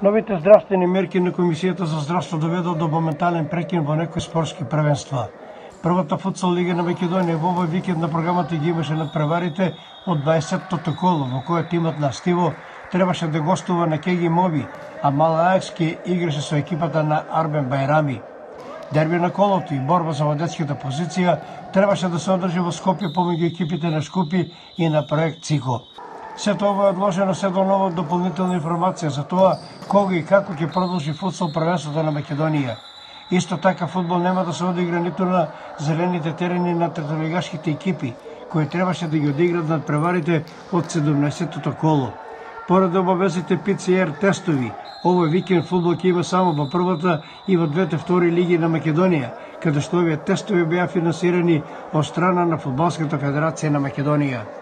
Новите здравствени мерки на Комисијата за здравство доведоа до моментален прекин во некои спортски првенства. Првата футсал лига на Македонија во овој викенд на програмата ги имаше надпреварите од 20-тото коло, во која тимот на Стиво требаше да гостува на Кеги Моби, а Мала Аекс ке играше со екипата на Арбен Байрами. Дерби на колото и борба за водечката позиција требаше да се одржи во Скопје помеѓу екипите на Шкупи и на проект ЦИКО. Сето ова е одложено се до нова дополнителна информација за тоа кога и како ќе продолжи футсал првенството на Македонија. Исто така фудбал нема да се одигра ниту на зелените терени на третолигашките екипи, кои требаше да ги одиграт надпреварите од 17-тото коло. Поред обавезите ПЦР тестови, овој викенд фудбал ќе има само во првата и во двете втори лиги на Македонија, каде што овие тестови беа финансирани од страна на Фудбалската федерација на Македонија.